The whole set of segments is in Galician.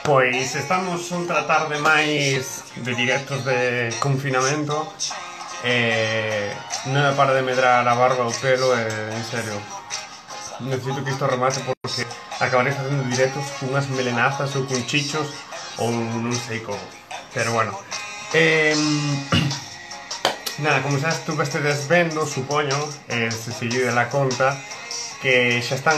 Pois estamos outra tarde máis de directos de confinamento non me para de medrar a barba o pelo e, en serio, necesito que isto remate porque acabaré facendo directos cunhas melenazas ou con chichos ou non sei como. Pero bueno, nada, como xa estuvestedes vendo, supoño, se seguide la conta, que xa están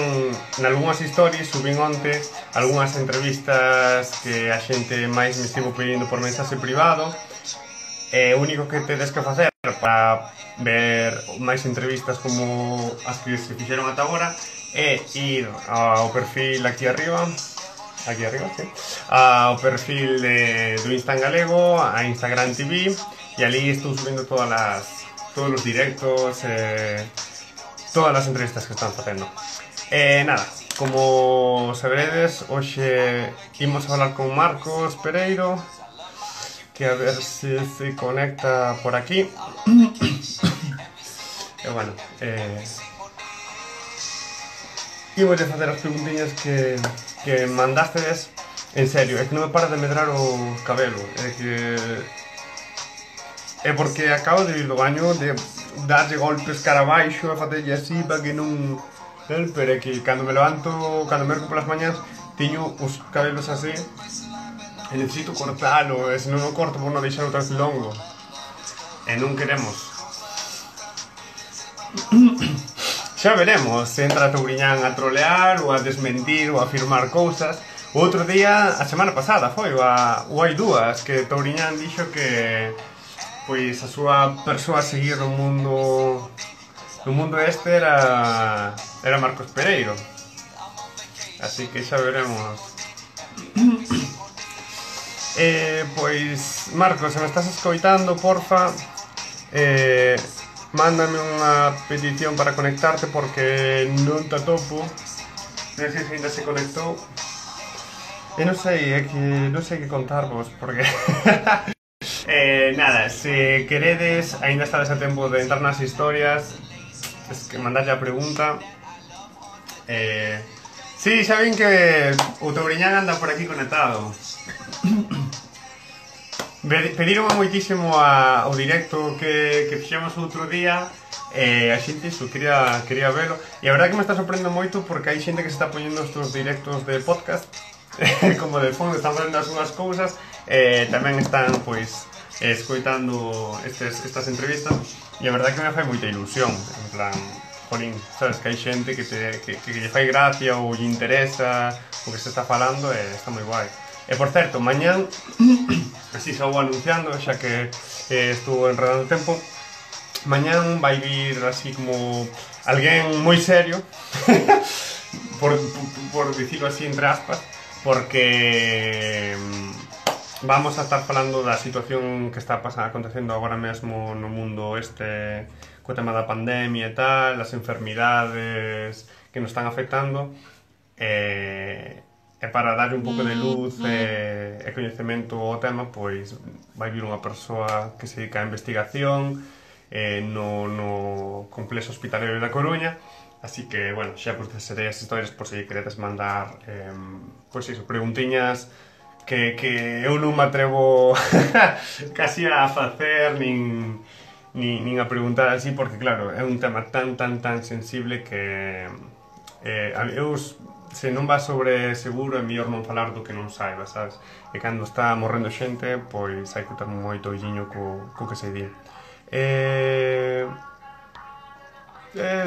nalgúnas stories, subín onte algunhas entrevistas que a xente máis me estivo pedindo por mensaxe privado. O único que tedes que facer para ver máis entrevistas como as que se fixeron ata agora é ir ao perfil aquí arriba, sí, ao perfil do Insta en galego, a Instagram TV, e ali estou subindo todos os directos, todas as entrevistas que están facendo. Nada, como saberedes, hoxe imos a falar con Marcos Pereiro, que a ver se conecta por aquí. E bueno, imos de facer as preguntiñas que mandástedes. En serio, é que non me para de medrar o cabelo, é porque acabo de ir do baño, de darlle golpes cara abaixo e facerlle así para que non... Pero é que cando me levanto, cando me ergo polas mañas, teño os cabelos así e necesito cortalo, e se non o corto por non deixar outra vez longo, e non queremos. Xa veremos se entra Touriñán a trolear ou a desmentir ou a afirmar cousas. O outro día, a semana pasada foi, ou hai dúas, que Touriñán dixo que pois a súa persoa a seguir no mundo este era Marcos Pereiro, así que xa veremos. Pois, Marcos, se me estás escoitando, porfa, mándame unha petición para conectarte porque non te atopo. Non sei se ainda se conectou. E non sei, é que non sei que contarvos porque... nada, se queredes, ainda estades a tempo de entrar nas historias, es que mandadlle a pregunta. Sí, xa ven que o Touriñán anda por aquí conectado. Pediron moitísimo o directo que fixemos outro día, a xente iso quería velo, e a verdade que me está sorprendendo moito porque hai xente que se está poñendo estos directos de podcast como de fondo, están facendo as súas cousas, tamén están pois escoitando estas entrevistas, e a verdade que me fai moita ilusión, en plan, jolín, sabes, que hai xente que lle fai gracia ou lle interesa o que se está falando, e está moi guai. E por certo, mañán, así xa vou anunciando, xa que estuvo enredando o tempo, mañán vai vir así como alguén moi serio, por dicirlo así entre aspas, porque vamos a estar falando da situación que está acontecendo agora mesmo no mundo este, co tema da pandemia e tal, as enfermidades que nos están afectando, e para darlle un pouco de luz e coñecemento ao tema, pois vai vir unha persoa que se dedica a investigación no complexo hospitalario da Coruña, así que, bueno, xa pues serei as historias por se queredes mandar pois iso, preguntiñas que eu non me atrevo casi a facer nin a preguntar así, porque claro, é un tema tan sensible que eu, se non va sobre seguro, é mellor non falar do que non saiba, sabes? E cando está morrendo xente, pois hai que ter moito olliño co que se di.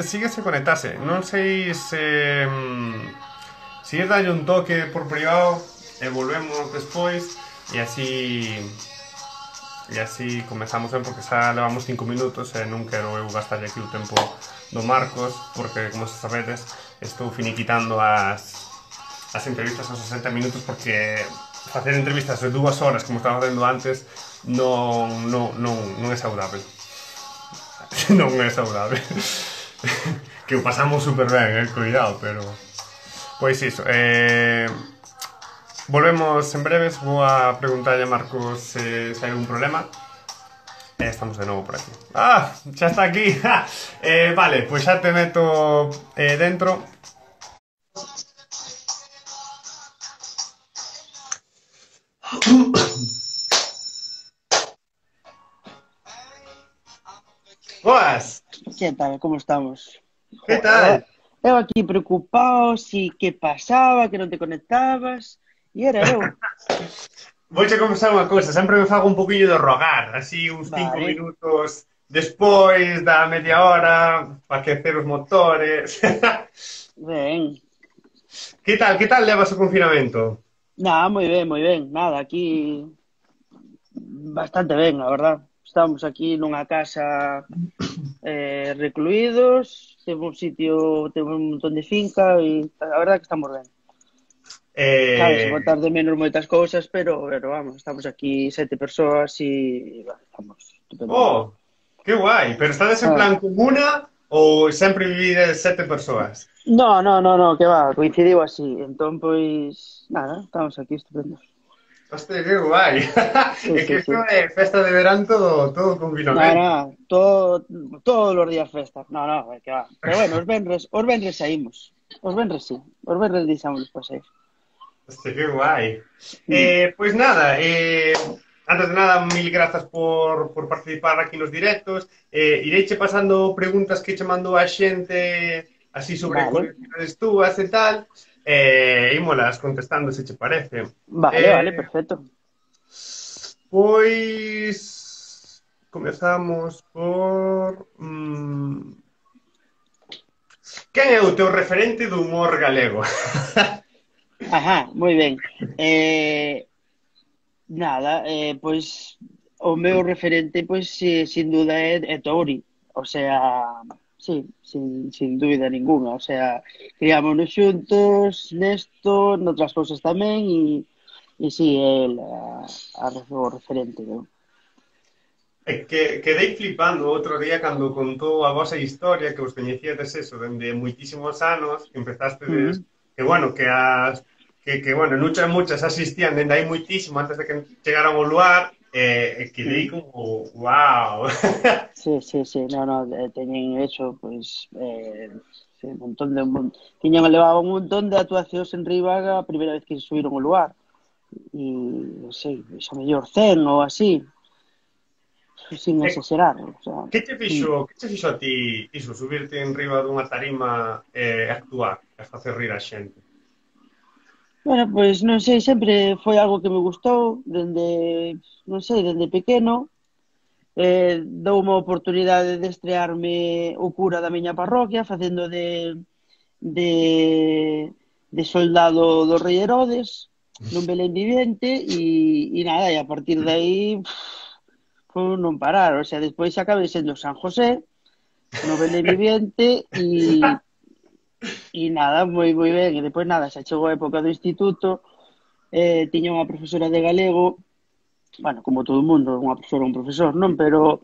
Síguese conectase, non sei se ir dalle un toque por privado e volvemos despois, e así comezamos ben, porque xa levamos 5 minutos e non quero eu gastar aquí o tempo do Marcos, porque, como se sabedes, estou finiquitando as entrevistas aos 60 minutos, porque facer entrevistas de 2 horas, como estaba facendo antes, non é saudável. Non é saudável. Que o pasamos super ben, cuidado, pero... Pois iso, volvemos en breves, vou a preguntarlle a Marcos se hai algún problema. Estamos de novo por aquí. ¡Ah! Xa está aquí. Vale, pois xa te meto dentro. Boas, Que tal? Como estamos? que Joder, tal? eu aquí preocupado, si que pasaba, que non te conectabas, e era eu. Vouche confesar unha cousa, sempre me fago un poquillo de rogar, así uns 5 Vale, minutos despois da media hora, para aquecer os motores. ben. Que tal levas o confinamento? Nada, moi ben, nada, aquí bastante ben, a verdad. Estamos aquí nunha casa recluídos, temos un sitio, temos un montón de finca e a verdad que estamos ben. Sabes, Eh... botar de menos moitas cousas, pero vamos, estamos aquí 7 persoas e bueno, estamos estupendamente. Oh, que guai, pero estades en Ah. plan comuna ou sempre vivides 7 persoas? No, que va, coincidiu así. Entón, pois, nada, estamos aquí estupendos. Hostia, que guai. Sí, É que sí, isto sí. é festa de verán todo confinamento. Todos los días festa. Que va. Pero bueno, os venres saímos. Os venres sí. Os venres deixamos os paseos. Hostia, que guai. Mm. Pois nada, antes de nada, mil grazas por participar aquí nos directos. Ireiche pasando preguntas que che mandou a xente así sobre Vale, curiosidades túas e tal. Ímolas contestando se che parece. vale, Eh, perfecto. Pois comezamos por quen é o teu referente do humor galego? Ajá, moi ben. Eh, Nada, pois o meu referente, pois, sin duda é Touri. O sea, sí, sin dúbida ninguna. O sea, criámonos xuntos nesto, noutras cousas tamén, e sí, el o referente, non? É que quedei flipando outro día cando contou a vosa historia que vos coñecíades eso dende moitísimos anos, que empezastedes, Mm. que bueno, que bueno, muchas asistían dende hai moitísimo antes de que chegaran ao luar, quedei Mm. como, wow. Sí, no, teñen eso, pois, sí, un montón tiñan elevado un montón de actuacións en Ribaga a primeira vez que subiron ao lugar. E, non sei, xa mellor 100 ou así, sin E exagerar, o sea, que che fixo a ti iso, subirte en riba dunha tarima e actuar, e facer rir a xente? bueno, pois non sei, sempre foi algo que me gustou dende, non sei, dende pequeno. Dou unha oportunidade de estrearme o cura da miña parroquia facendo de, de soldado do rei Herodes nun Belén vivente e nada, e a partir de aí foi non parar, o sea, despois acabei sendo San José no Belén vivente e nada, moi ben, e depois nada, xa chegou a época do instituto, tiña unha profesora de galego, bueno, como todo o mundo, unha profesora un profesor, non? Pero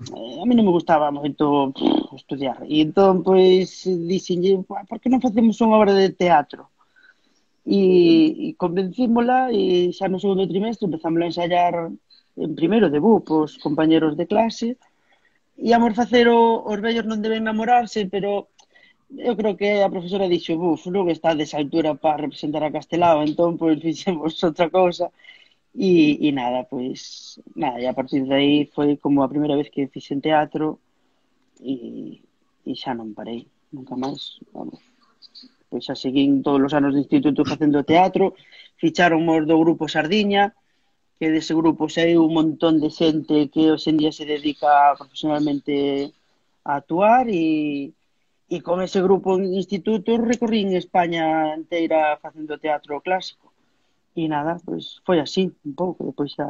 a mí non me gustaba moito estudiar. E entón, pois, dixenlle, por que non facemos unha obra de teatro? E convencímola e xa no segundo trimestre empezamos a ensayar en primeiro de BU, pos compañeros de clase. Íamos facer os vellos non deben namorarse, pero eu creo que a profesora dixo, buf, non está desa altura para representar a Castelao, entón, pois, fixemos outra cousa. Nada, pois, nada, e a partir de aí foi como a primeira vez que fixen teatro e xa non parei, nunca máis, vamos. Pois xa seguín todos os anos de instituto facendo teatro, ficharonmos do grupo Sardiña, que dese grupo saiu un montón de xente que hoxe en día se dedica profesionalmente a actuar e con ese grupo en instituto recorrín España inteira facendo teatro clásico. E nada, pois foi así, un pouco, depois xa...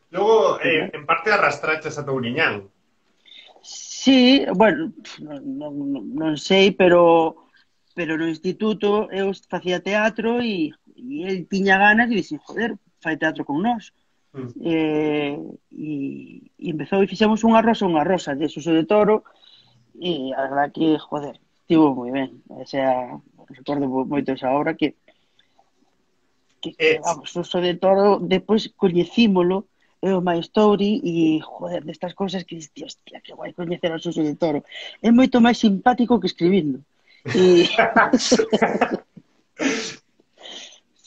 Logo, Pois, nada. en parte arrastraches a Touriñán. Sí, bueno, non sei, pero no instituto eu facía teatro e el tiña ganas e dixen, joder, fai teatro con nós. Mm. E empezou e fixemos unha rosa de Suso de Toro e a verdad que, joder, estivo moi ben. O sea, recordo moito esa obra que Eh, vamos, Suso de Toro, despois coñecímolo, o Maestori e, joder, destas cousas que diste, hostia, que guai coñecer a Suso de Toro. É moito máis simpático que escribindo. E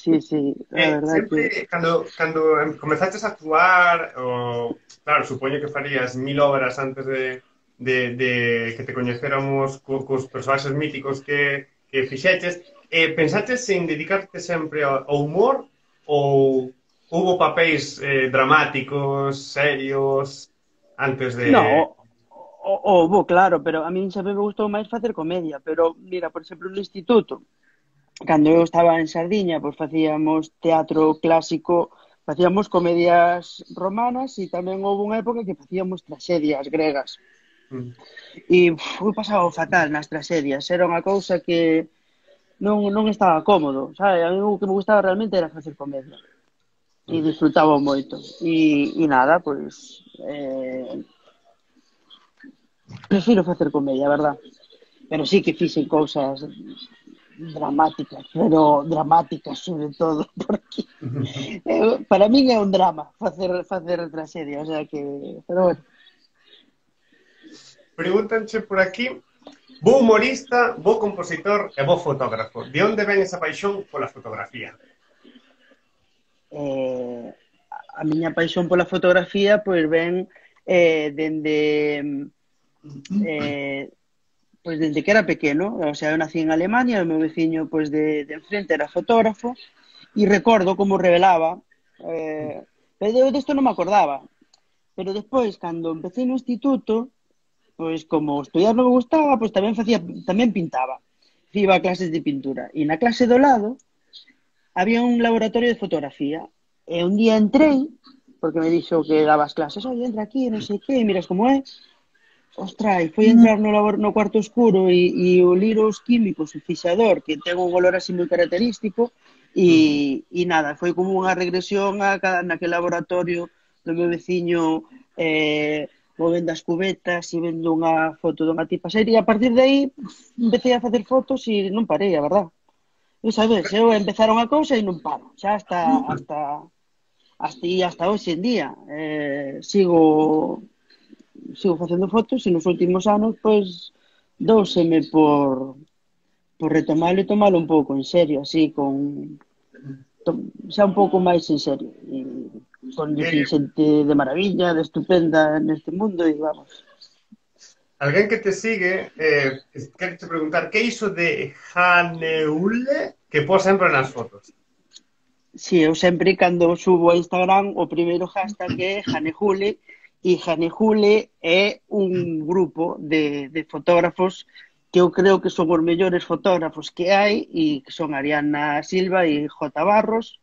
Sí, sí, a verdad que... Sempre, cando comezaches a actuar, claro, supoño que farías 1000 obras antes de que te coñecéramos cos personaxes míticos que fixeches, pensaches en dedicarte sempre ao humor ou hubo papéis dramáticos, serios, antes de... No, bo, claro, pero a min sempre me gustou máis facer comedia, pero mira, por exemplo, no instituto, cando eu estaba en Sardiña, pois facíamos teatro clásico, facíamos comedias romanas e tamén houve unha época que facíamos tragedias gregas. Mm. E eu pasaba fatal nas tragedias, era unha cousa que non estaba cómodo, sabe? A mí o que me gustaba realmente era facer comedia e disfrutaba moito. E nada, pois prefiro facer comedia, a verdad. Pero sí que fixen cousas dramáticas, pero dramáticas sobre todo, porque para min é un drama facer tragedia, o sea que, pero bueno. Pregúntanche por aquí, bo humorista, bo compositor e bo fotógrafo. De onde ven esa paixón pola fotografía? eh, a miña paixón pola fotografía pois ven dende eh, pois dende que era pequeno, o sea, eu nací en Alemania, o meu veciño pois de enfrente era fotógrafo e recordo como revelaba pero eu desto non me acordaba, pero despois cando empecé no instituto, pois como estudiar non me gustaba, pois tamén pintaba, iba a clases de pintura e na clase do lado había un laboratorio de fotografía e un día entrei porque me dixo que dabas clases, oye, entra aquí, non sei que, miras como é. Ostra, e foi entrar no cuarto oscuro e olir os químicos, o fixador, que ten un olor así moi característico, e nada, foi como unha regresión naquele laboratorio do meu veciño movendo as cubetas e vendo unha foto dunha tipa seria, e a partir de aí empecé a facer fotos e non parei, a verdad. E sabes, eu empezar unha cousa e non paro, xa hasta hoxe en día. Sigo facendo fotos e nos últimos anos pois douseme por retomalo e tomalo un pouco en serio, así xa un pouco máis en serio e coñecín Eh, xente de maravilla, de estupenda neste mundo e vamos. alguén que te sigue, quero te preguntar, que é iso de Janeule que pos sempre nas fotos? Si, eu sempre cando subo a Instagram o primeiro hashtag é Janejule e Janejule é un grupo de fotógrafos que eu creo que son os mellores fotógrafos que hai e que son Ariana Silva e J. Barros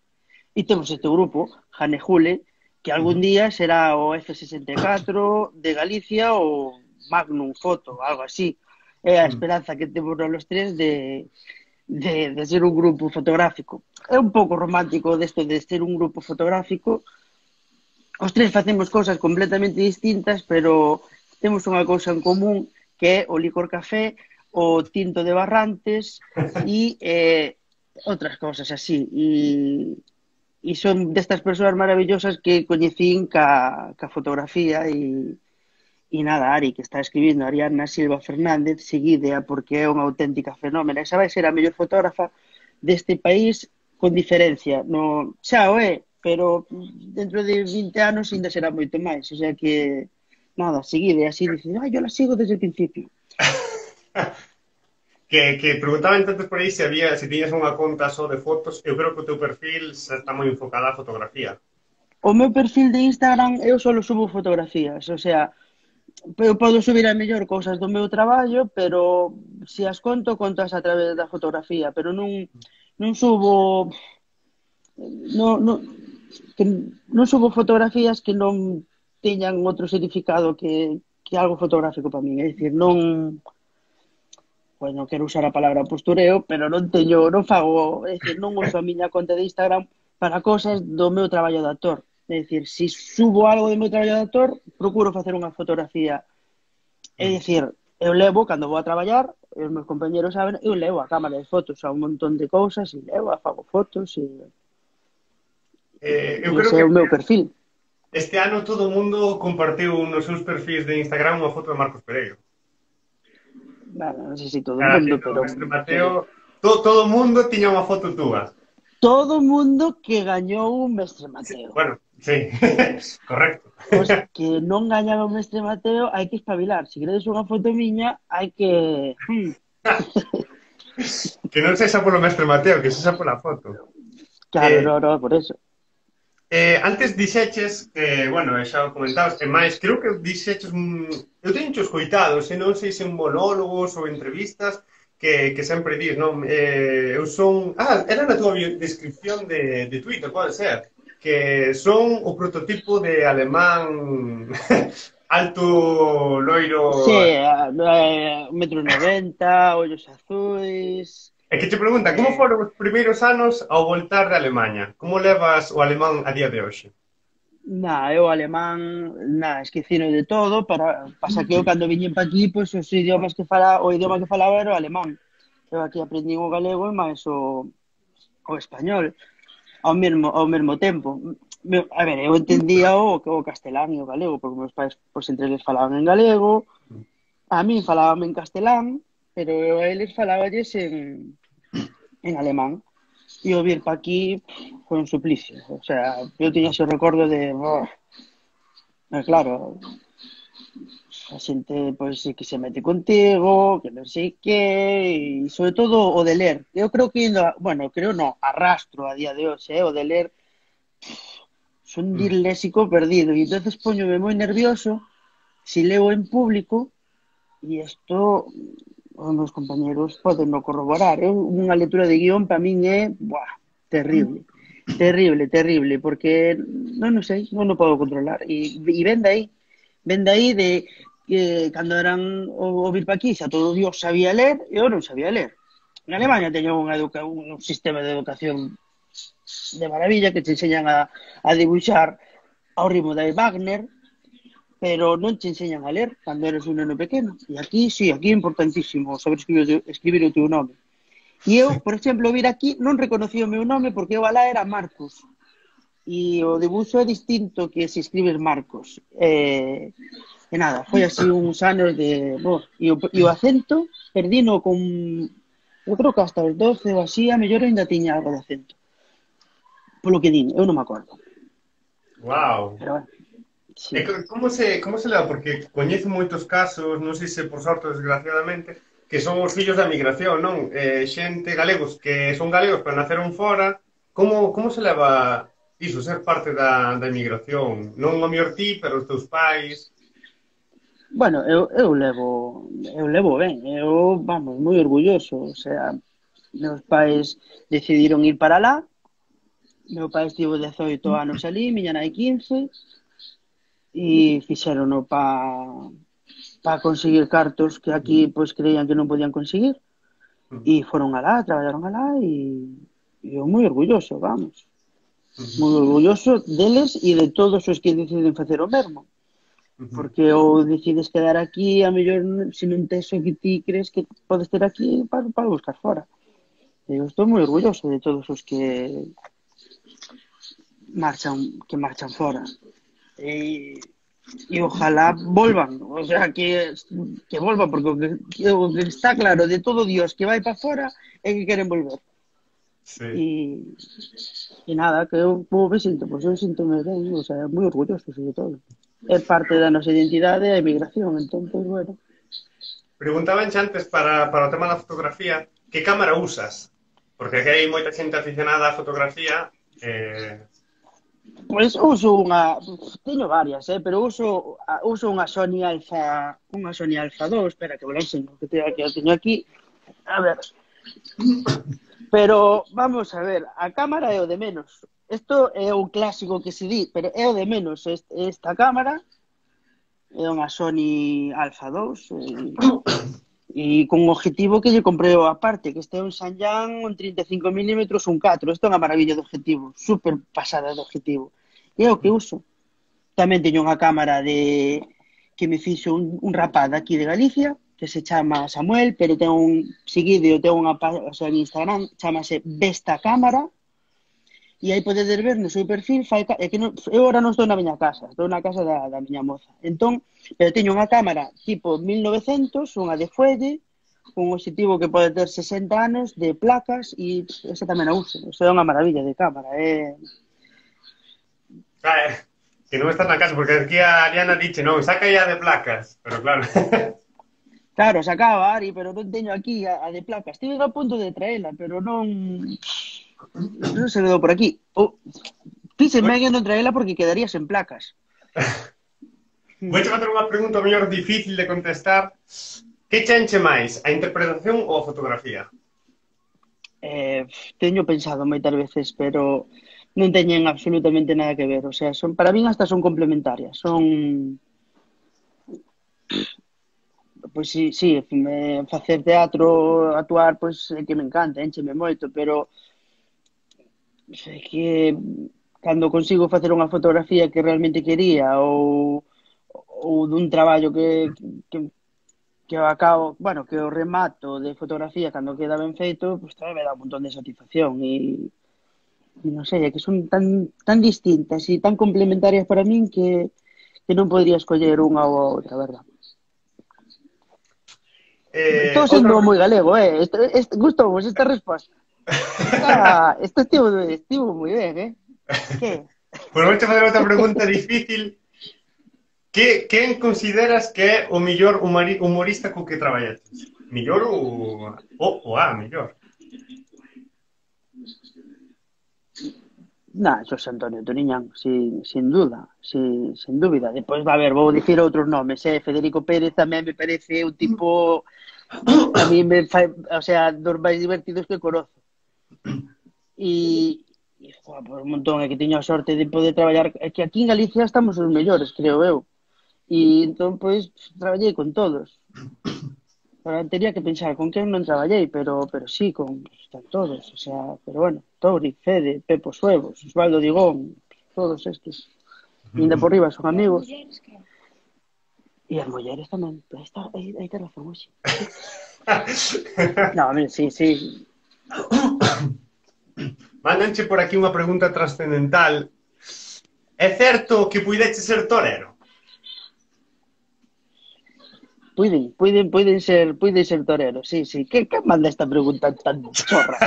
e temos este grupo, Janejule, que algún día será o F64 de Galicia ou Magnum Foto, algo así. É a esperanza que temos os tres de ser un grupo fotográfico. É un pouco romántico desto de ser un grupo fotográfico. Os tres facemos cousas completamente distintas, pero temos unha cousa en común que é o licor café, o tinto de Barrantes e outras cousas así. E son destas persoas maravillosas que coñecín ca fotografía e nada, Ari, que está escribindo Ariana Silva Fernández, seguidea porque é unha auténtica fenómena. Esa vai ser a mellor fotógrafa deste país con diferencia. No, xa o é, pero dentro de 20 anos ainda será moito máis. O sea que, nada, seguide, así dice, yo la sigo desde el principio. Que preguntaban entonces por aí se tiñas unha conta só de fotos. Eu creo que o teu perfil xa está moi enfocado á fotografía. O meu perfil de Instagram eu só subo fotografías, o sea, eu podo subir a mellor cousas do meu traballo, pero se as contas a través da fotografía, pero non subo non subo fotografías que non teñan outro significado que algo fotográfico para min, é dicir, non non quero usar a palabra postureo, pero non fago, é dicir, non uso a miña conta de Instagram para cosas do meu traballo de actor. É dicir, se subo algo do meu traballo de actor, procuro facer unha fotografía. É dicir, eu levo, cando vou a traballar, os meus compañeros saben, eu levo a cámara de fotos a un montón de cousas e levo, fago fotos e Eu creo ese que é o meu perfil. este ano todo o mundo compartiu nos seus perfis de Instagram unha foto de Marcos Pereiro. Bueno, non sei se todo o mundo, pero Mestre Mateo, todo o mundo tiña unha foto túa. todo o mundo que gañou o Mestre Mateo. Bueno, sí, correcto. Os que non gañaba o Mestre Mateo hai que espabilar. Se queredes unha foto miña, hai que... Que non sexa polo mestre Mateo, que sexa pola foto. Claro, Eh, no, por eso. Antes dixeches, bueno, xa o comentabas, e máis, creo que dixeches, eu teño escoitado, se non sei se en monólogos ou entrevistas, que sempre dis, non? Eu son... era na tua descripción de Twitter, pode ser, que son o prototipo de alemán alto, loiro... Sí, 1,90 m, ollos azuis... E que te pregunta, como foron os primeiros anos ao voltar de Alemanha? Como levas o alemán a día de hoxe? Eu alemán, esquecino de todo, pasa que eu cando viñen pa aquí, pois o idioma que falaba era o alemán. Eu aquí aprendí o galego e máis o español ao mesmo tempo. A ver, eu entendía o castelán e o galego, porque meus pais, pois, entre eles falaban en galego, a min falaban en castelán, pero eu a eles falaballes en alemán. E o vir pa aquí foi un suplicio. O sea, eu tiña ese recordo de... claro, a xente, pois, que se mete contigo, que non sei que, e sobre todo o de ler. Eu creo que, arrastro a día de hoxe, o de ler, son disléxico perdido, e entonces poñome moi nervioso se leo en público, e isto os meus compañeros poden no corroborar. Unha lectura de guión para min é terrible, terrible, porque non sei, non o podo controlar, e ven de aí de que cando eran o vir pa aquí xa todo Dios sabía ler e eu non sabía ler. En Alemania teño un sistema de educación de maravilla que te enseñan a dibuixar ao ritmo de Wagner, pero non te enseñan a ler cando eres un neno pequeno. E aquí, sí, aquí é importantísimo saber escribir o teu nome. E eu, por exemplo, vir aquí non reconocí o meu nome porque eu alá era Marcos. E o dibuixo é distinto que se escribes Marcos. E nada, foi así uns anos de... E o acento, perdino con... Eu creo que hasta os 12 ou así, a mellor ainda tiña algo de acento. Polo que din, eu non me acordo. Wow. Pero bueno, sí. E como se leva? Porque coñezo moitos casos, non sei se por sorte ou desgraciadamente, que son os fillos da migración, non? Xente galegos que son galegos pero naceron fora. Como se leva iso, ser parte da emigración? Non o mellor ti, pero os teus pais... Bueno, eu levo ben, moi orgulloso, o sea, meus pais decidiron ir para lá, meu pai estivo 18 anos ali, miña nai 15, e fixerono para conseguir cartos que aquí pois creían que non podían conseguir, e foron alá, traballaron alá, e eu moi orgulloso, vamos, moi orgulloso deles e de todos os que deciden facer o mesmo. Porque ou decides quedar aquí, a mellor se non tes o que ti crees que podes ter aquí para buscar fora. Eu estou moi orgulloso de todos os que marchan fora. E ojalá volvan, o sea, que volvan, porque o que está claro de todo Dios que vai para fora é que queren volver. Sí. E nada, que eu me sinto, pois eu sinto-me ben, o sea, moi orgulloso sobre todo. É parte da nosa identidade a emigración, entón, pois, bueno. Preguntaban antes para o tema da fotografía, que cámara usas? Porque aquí hai moita xente aficionada á fotografía. Pois uso teño varias, pero uso unha Sony Alpha 2, espera que vou enseño, que teño aquí. A ver. Pero vamos a ver, a cámara é o de menos. Isto é un clásico que se di, pero é o de menos. Esta cámara é unha Sony Alpha 2 e con un objetivo que lle comprei aparte, que este é un Sanyan, un 35 mm, un 4. Isto é unha maravilla de objetivo, super pasada de objetivo. E é o que uso. Tamén teño unha cámara que me fixo un rapaz aquí de Galicia, que se chama Samuel, pero ten o sea, en Instagram, chamase Vesta Cámara, e aí podedes ver no seu perfil, eu agora non estou na miña casa, estou na casa da miña moza. Entón, pero teño unha cámara tipo 1900, unha de fuelle, un objetivo que pode ter 60 anos de placas e esa tamén a uso. Eso é unha maravilla de cámara. Que non estás na casa, porque aquí a Ariana dice, non, saca ya de placas, pero claro. Claro, sacaba Ari, pero non teño aquí a de placas. Estive a punto de traela, pero non se quedou por aquí. Pise medio non traela porque quedaría sen placas. Vou che facer unha pregunta mellor difícil de contestar. Que che enche máis, a interpretación ou a fotografía? Teño pensado moitas veces, pero non teñen absolutamente nada que ver. O sea, para min hasta son complementarias. Pois sí, facer teatro, actuar, pois é que me encanta, encheme moito, pero é que cando consigo facer unha fotografía que realmente quería ou dun traballo que o acabo, bueno, que o remato de fotografía cando queda ben feito, pois tamén me dá un montón de satisfacción e non sei, é que son tan distintas e tan complementarias para min que non podría escoller unha ou a outra, verdad? Estou sendo moi galego, gustou-vos esta resposta. Isto estivo moi ben, Que? Pois vou che facer outra pregunta difícil. Quen consideras que é o mellor humorista co que traballaches? Mellor mellor? Xosé Antonio Turiñán, sin duda, sin dúbida. Depois, vou dicir outros nomes, Federico Pérez tamén me parece un tipo, a mí me fai, o sea, dos máis divertidos que conozo. Por un montón, é que teño a sorte de poder traballar, é que aquí en Galicia estamos os mellores, creo eu. E entón, pois, traballei con todos. Ahora tería que pensar con quen non traballei, pero sí, con todos, o sea, pero bueno, Tori, Fede, Pepo Suevos, Osvaldo Digón, todos estes. Ainda por riba son amigos. E as mulleres tamén, aí te razón, hoxe. No, sí. Mándanche por aquí unha pregunta trascendental. É certo que puideche ser torero? Puiden ser toreros, sí. Que manda esta pregunta tan chorra,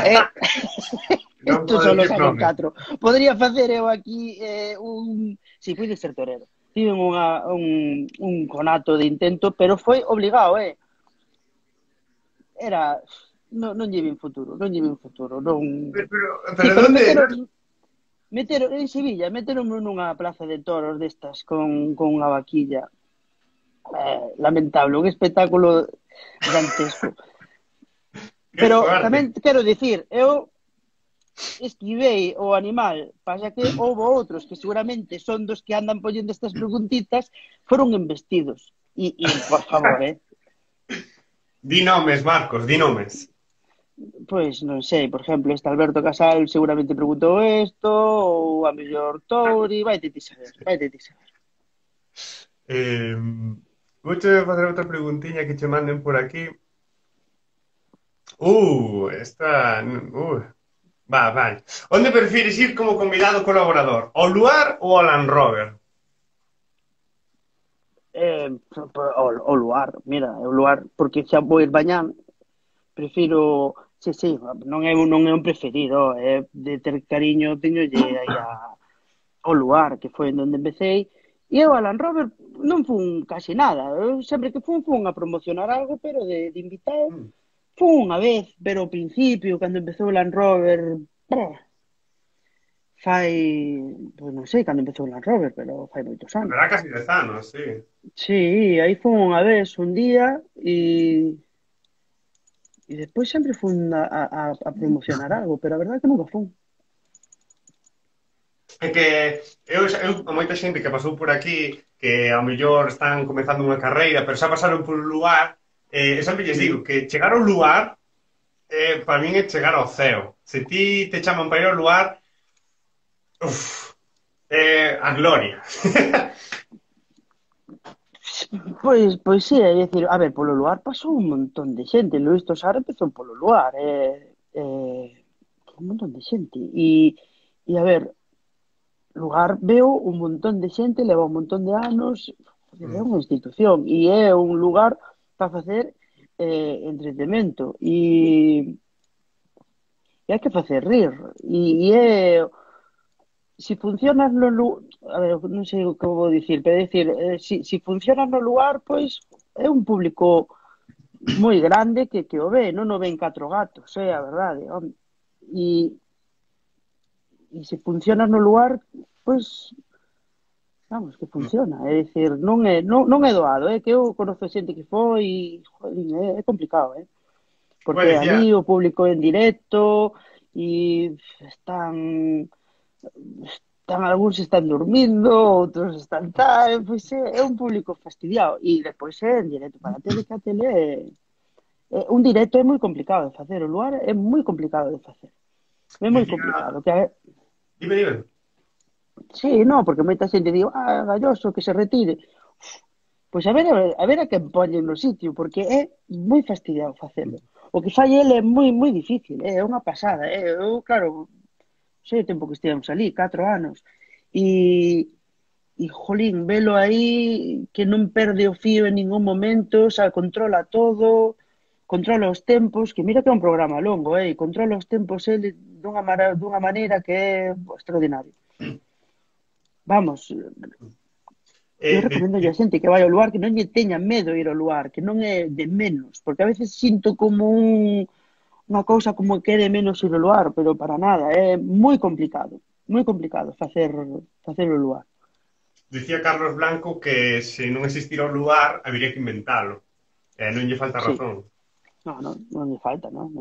Isto solo saben 4. Podría facer eu aquí Sí, puide ser torero. Tiven un conato de intento, pero foi obligado, Era... Non lle vin futuro, non. Pero onde? Meteron en Sevilla, meteronme nunha plaza de toros destas con unha vaquilla. Lamentable, un espectáculo dantesco. Pero tamén quero dicir, eu esquivei o animal, pasa que houve outros que seguramente son dos que andan poñendo estas preguntitas, foron embestidos. E por favor, Di nomes, Marcos, di nomes. Pois non sei, por exemplo, este Alberto Casal seguramente preguntou isto, ou a mellor Touri, vai te saber. Vou te facer outra preguntiña que che manden por aquí. Esta... Vale. Onde prefires ir como convidado colaborador? Ao Luar ou ao Land Rover? O Luar, mira, o Luar, porque xa vou ir mañán, prefiro... Sí, non é un preferido, de ter cariño teñolle aí ao Luar, que foi onde empecé, e eu a Land Rover non fun casi nada, eu sempre que fun a promocionar algo, pero de invitado, fun unha vez, pero ao principio, cando empezou o Land Rover, pois non sei cando empezou o Land Rover, pero fai moitos anos. Era casi 10 anos, sí. Sí, aí fun unha vez, un día, e despois sempre fun a promocionar algo, pero a verdade é que nunca fun. É que eu a moita xente que pasou por aquí que ao mellor están comezando unha carreira, pero xa pasaron por un lugar, sempre lles digo que chegar ao lugar para min é chegar ao ceo. Se ti te chaman para ir ao lugar, a gloria. Pois sí, é dicir, a ver, polo lugar pasou un montón de xente, Luís Tosar empezou polo luar, un montón de xente, e a ver, lugar veo un montón de xente, leva un montón de anos, é unha institución, e é un lugar para facer entretenimento e hai que facer rir e é si funcionas no lugar, a ver, non sei o que vou dicir, pero é dicir, si funcionas no lugar, pois é un público moi grande que o ve, non o ven 4 gatos, é a verdade, home. E, e se funciona no lugar, pois, vamos, que funciona. É dicir, non é doado, que eu conozco xente que foi e, joder, é complicado, Bueno, porque decía, ali o público en directo e están algúns están dormindo, outros están tal, pois é un público fastidiado e despois é en directo para a tele, que a tele un directo é moi complicado de facer, o lugar é moi complicado de facer. É moi decía, complicado. dime. Sí, no, porque moita xente digo, galloso, que se retire. Pois a ver a quen poñen no sitio, porque é moi fastidiado facelo. O que fai ele é moi difícil, é unha pasada. Eu, claro, sei o tempo que estivemos ali, 4 anos, e jolín, velo aí, que non perde o fío en ningún momento, xa controla todo, controla os tempos, que mira que é un programa longo, e controla os tempos ele dunha maneira que é extraordinario. Vamos, eu recomendo a xente que vai ao lugar que non lle teña medo ir ao lugar, que non é de menos, porque a veces sinto como unha cousa como que é de menos ir ao lugar, pero para nada, é moi complicado facer o lugar. Decía Carlos Blanco que se non existira o lugar, habería que inventalo. Non lle falta Sí, razón. non lle falta, non.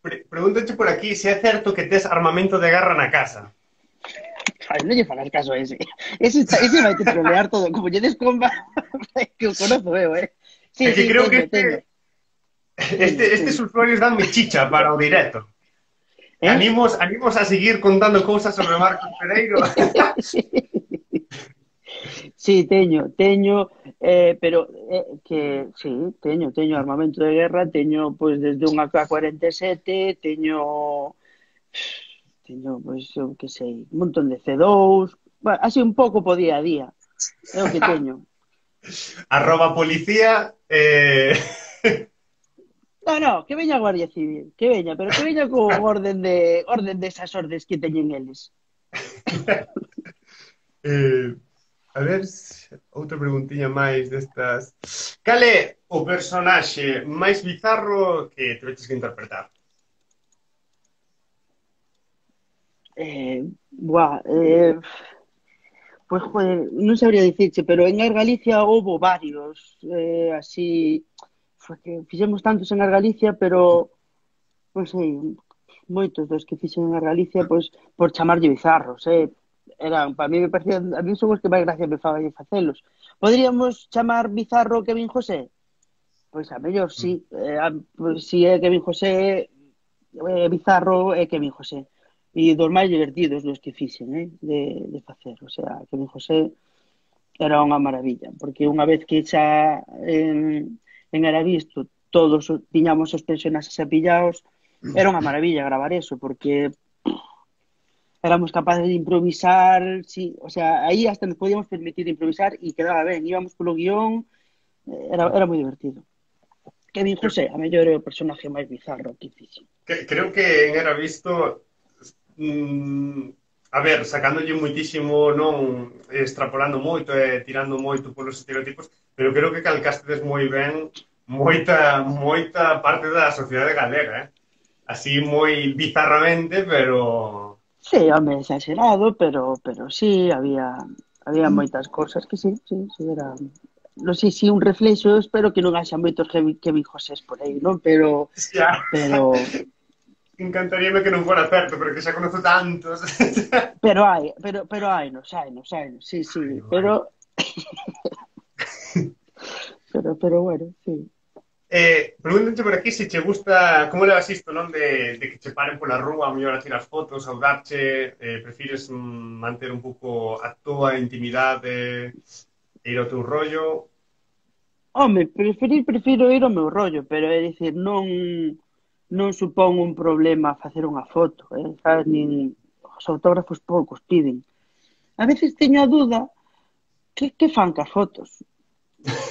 Pregúntate por aquí se é certo que tes armamento de guerra na casa. Ai, non lle fagas caso a ese. Ese vai te trolear todo, como lle descomba, que o conozo eu, Sí, É que creo que teño. estes usuarios danme chicha para o directo. Eh? Animos a seguir contando cousas sobre Marcos Pereiro. Sí, teño, pero que sí, teño armamento de guerra, teño pois desde unha AK-47, teño pois eu que sei, un montón de C2, bueno, así un pouco po día a día. É o que teño. @policía. No, que veña a Guardia Civil, que veña, pero que veña con orden de esas ordes que teñen eles. A ver, outra preguntiña máis destas. Cal é o personaxe máis bizarro que te veches que interpretar? Buah, pois, joder, non sabría dicirche, pero en Air Galicia houbo varios, así, foi que fixemos tantos en Air Galicia, pero, non sei, moitos dos que fixen en Air Galicia, pois, por chamarlle bizarros, eran, para mí me parecían, a mí son os que máis gracia me faban facelos. Poderíamos chamar bizarro Kevin José? Pois a mellor sí, pois, si é Kevin José, bizarro é Kevin José. E dos máis divertidos dos que fixen, de facer. O sea, Kevin José era unha maravilla, porque unha vez que xa era visto, todos tiñamos os personaxes apillados, era unha maravilla gravar eso, porque éramos capaces de improvisar, sí, o sea, aí hasta nos podíamos permitir improvisar e quedaba ben, íbamos polo guión, era moi divertido. Kevin José, a mellor é o personaje máis bizarro que fixen. Creo que en Era Visto a ver, sacándolle moitísimo, non extrapolando moito e tirando moito polos estereotipos, pero creo que calcastedes moi ben moita parte da sociedade galega, así moi bizarramente, pero... Sí, home, exagerado, pero sí, había moitas cosas que sí, era... Non sei se un reflexo, espero que non haxa moitos Kevin Josés por aí, non? Xa. Pero Encantaríame que non fora certo, pero que xa conozo tantos. pero hainos, sí, pero pero bueno, sí. Pregúntate por aquí se che gusta, como levas isto, non? De que che paren pola rúa, a mellor a tirar fotos, a darche, prefires manter un pouco a túa intimidade e ir ao teu rollo? Home, prefiro ir ao meu rollo, pero é dicir, non supón un problema facer unha foto, sabes? Nin os autógrafos poucos piden. A veces teño a dúda que fan cas fotos.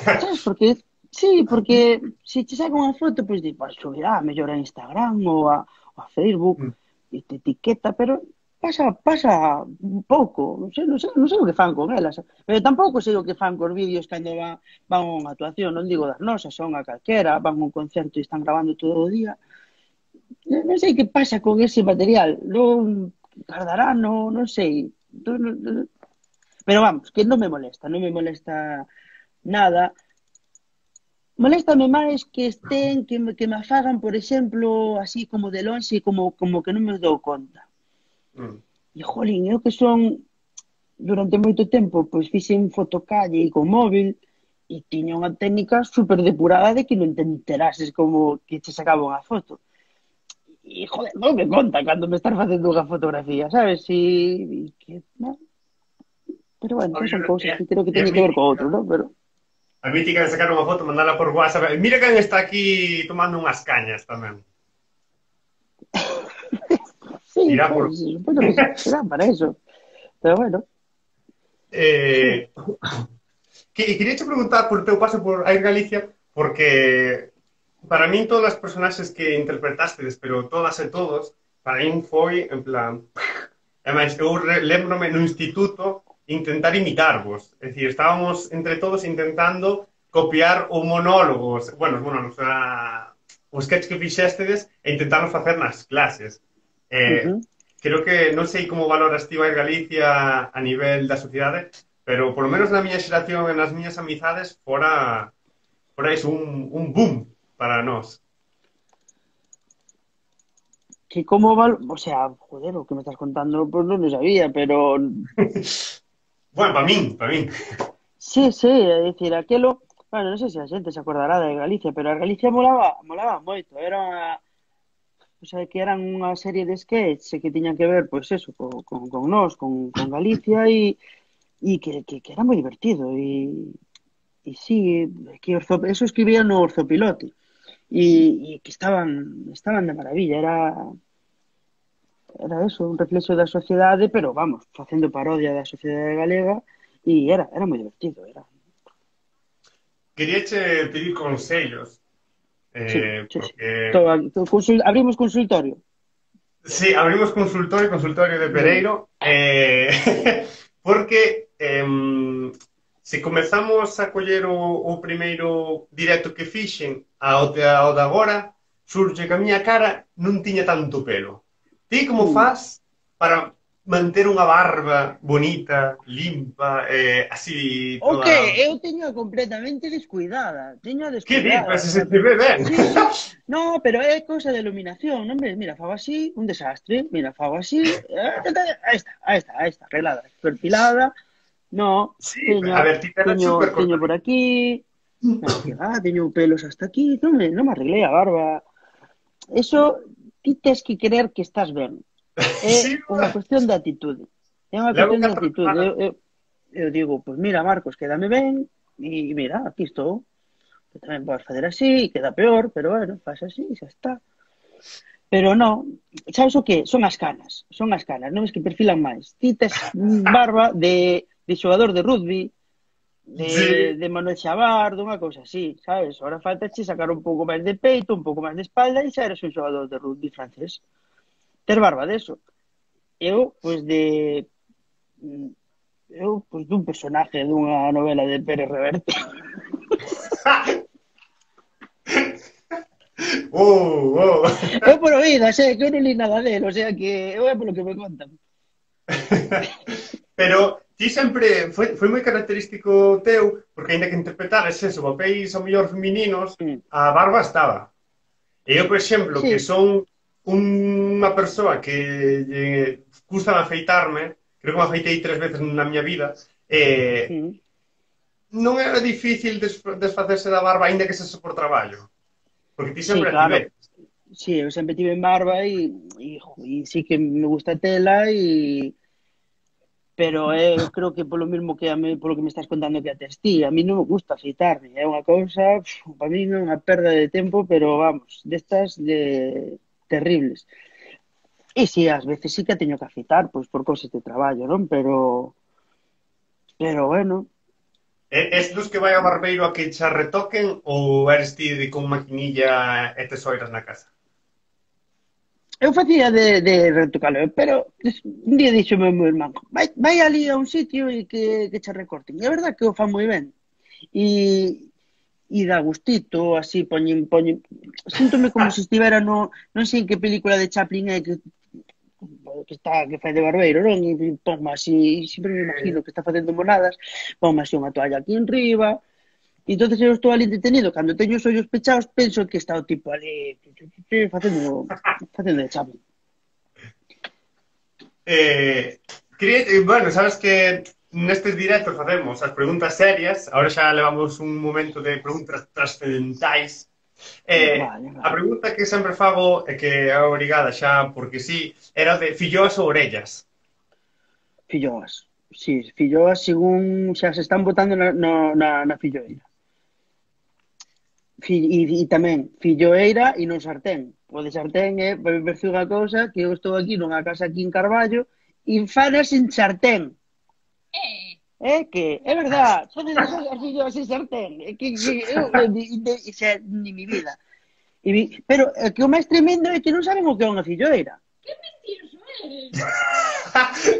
Sabes? Porque Sí, porque se che saca unha foto, pois di, pois subirá mellor a Instagram ou a Facebook Mm. e te etiqueta, pero pasa un pouco, non sei o que fan con elas, pero tampouco sei o que fan cos vídeos cando van a unha actuación, non digo das nosas, son a calquera, van a un concerto e están grabando todo o día. Non sei que pasa con ese material, non tardará, non sei. Pero vamos, que non me molesta nada. Moléstame máis que estén, que me afagan, por exemplo, así como de lonxe, como que non me dou conta. Mm. E, jolín, eu que son, durante moito tempo, pois fixen fotocalle e con móvil, e tiña unha técnica super depurada de que non te enterases como que che sacaba unha foto. E, joder, non me conta cando me estás facendo unha fotografía, sabes? Que, no. Pero, bueno, Oye, son cousas que creo que é teñen que ver co outro, non? Pero, a mítica de sacar unha foto, mandala por WhatsApp. Mira quen está aquí tomando unhas cañas tamén. sí, Irá por... pues, supoño que será para eso. Pero, bueno, sí. eh, quería te preguntar por teu paso por Air Galicia, porque para min todas as personaxes que interpretastes, pero todas e todos, para min foi en plan... E máis, eu lembrome no instituto intentar imitarvos. É dicir, estábamos entre todos intentando copiar o monólogos, bueno, os monólogos, o sketch que fixéstedes e intentarnos facer nas clases. Eh, Ujú. creo que non sei como valoras ti a Galicia a nivel da sociedade, pero polo menos na miña xeración e nas miñas amizades fora iso un boom para nós. Que o sea, joder, o que me estás contando, pues non lo sabía, pero Bueno, para min. sí, sí, é dicir, aquelo, bueno, non sei se a xente se acordará de Galicia, pero a Galicia molaba moito, o sea, que eran unha serie de sketches que tiñan que ver, pois eso, con nós, con Galicia que era moi divertido e sí, que eso escribían no Orzopilote e que estaban de maravilla, era eso, un reflexo da sociedade, pero vamos, facendo parodia da sociedade galega e era moi divertido, era. Queríache pedir consellos, Sí, sí, sí. porque Abrimos consultorio. sí, abrimos consultorio de Veña. Pereiro, porque se comezamos a coller o primeiro directo que fixen ao de agora, surge que a miña cara non tiña tanto pelo. Ti como Mm. faz para manter unha barba bonita, limpa, así O que toda... eu teño completamente descuidada, Que di? Pues o se sea, te ve ben. sí, sí, no, pero é cousa de iluminación, non ves? Mira, fago así, un desastre, mira, fago así, aí está, arreglada, perfilada, no, Sí, teño, a ver, ti te teño, super teño por cortadito. aquí, no, que va, teño pelos hasta aquí, non me arreglei a barba, eso, ti tes que creer que estás ben, é Sí, unha cuestión de actitude, é unha levo cuestión de 4 actitude, semanas. eu digo, pues mira, Marcos, quédame ben, e mira, aquí estou, que tamén podes fazer así, queda peor, pero bueno, pasa así, xa está. Pero non, sabes o que? Son as canas, non es que perfilan máis. Ti tes barba de xogador de rugby, de, Sí. de Manuel Xavar, dunha cousa así, sabes? Ahora falta che sacar un pouco máis de peito, un pouco máis de espalda e xa eres un xogador de rugby francés. Ter barba deso. Eu, pois dun personaje dunha novela de Pérez Reverte. Oh. Eu por oídas, que eu non li nada dele, o sea que eu é polo que me contan. Pero ti sempre foi moi característico teu, porque aínda que interpretares eso, papéis ao mellor femininos, Mm. a barba estaba. E eu, por exemplo, que Sí, son unha persoa que custa afeitarme, creo que me afeitei 3 veces na miña vida, mm. non era difícil desfacerse da barba, aínda que se por traballo. Porque ti Sí, sempre a claro. tiveste. Sí, eu sempre tive en barba e sí que me gusta tela pero eu creo que polo mismo polo que me estás contando que a ti, a mí non me gusta afeitarme, é unha cousa, para mí é unha perda de tempo, pero vamos, destas de terribles. E sí, ás veces sí que teño que afeitar, pois por cousas de traballo, non? Pero bueno, Es dos que vai ao barbeiro a que xa retoquen ou eres ti de con maquinilla e tesoiras na casa? Eu facía de retocalo, pero un día dixo o meu irmán, vai ali a un sitio e que che recorten. E a verdad que o fan moi ben. E, e dá gustito, así poñen, síntome como se estivera no, non sei en que película de Chaplin é que fai de barbeiro, non? E ponme así, sempre me imagino que está facendo monadas, ponme así unha toalla aquí en riba, e entonces eu estou ali entretenido, cando teño os ollos pechados, penso que está o tipo ali facendo de Chaplin. Bueno, sabes que nestes directos facemos as preguntas serias, ahora xa levamos un momento de preguntas trascendentais. Vale, A vale. pregunta que sempre fago, e que é obrigada xa porque sí, era de filloas ou orellas. Filloas. Sí, filloas según xa se están botando na filloeira. E tamén filloeira e non sartén. O de sartén é, parece unha cousa que eu estou aquí nunha casa aquí en Carballo e fanas en sartén. É que, é verdad, podes deixar as filloas en sartén. É que eu, xa, ni mi vida. Pero que o máis tremendo é que non saben o que é unha filloeira.